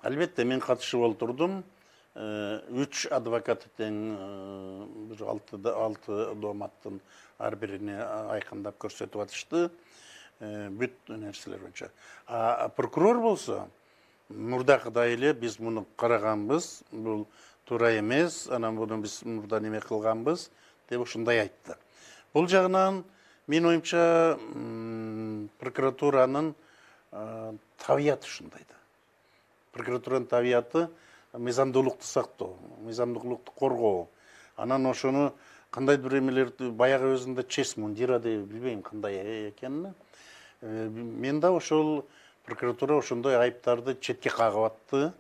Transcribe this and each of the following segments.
Албетте мен катышып олтурдум. 3 адвокат тең бир 6 дооматтын ар бирине айкындап көрсөтүп атышты. Бүт нерселер боюнча. Прокурор болсо мурдакыдай эле биз муну караганбыз, бул туура эмес, анан муну биз мурда неме кылганбыз деп ушундай айтты. Бул жагынан менин оюмча прокуратуранын табияты ушундай да. Прокуратуранын табияты мыйзамдуулукту сактоо, мыйзамдуулукту коргоо. Анан ошону кандайдыр бир эмелерди баягы өзүндө честь мундира деп билбейм кандай экенин. Мен да ошол прокуратура ошондой айыптарды четке кагып атты,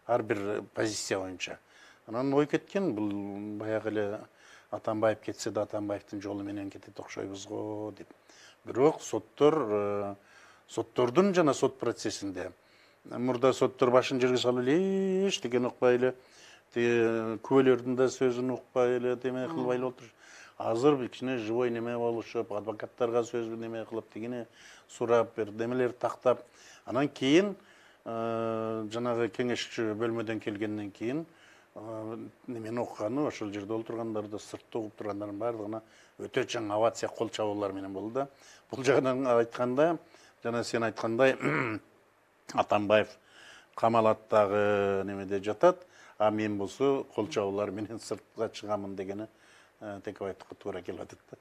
ар бир позиция боюнча. Анан ой кеткен, бул баягы эле Атамбаев кетсе да Атамбаевдин жолу менен кетет окшойбуз го деп. Бирок соттордун жана сот процессинде мурда соттор башын жерге салып эле эчтекен укпай эле, күбөлөрдүн да сөзүн укпай эле деме кылбай эле отуруш. Азыр бир кичине живой неме болушуп, адвокаттарга сөз неме кылып, тигине сурап, бир немелер тактап, анан кийин жанагы кеңешчи бөлмөдөн келгенден кийин немени окуганы ошол жерде олтургандарды, сыртта угуп тургандардын баардыгына өтө чоң овация, кол чабуулар менен болду да. Бул жагынан айтканда, жана сен айткандай Атамбаев камалат дагы немеде жатат, а мен болсо кол чабуулар менен сыртка чыгамын дегени Текебаевдикке туура келип атат да.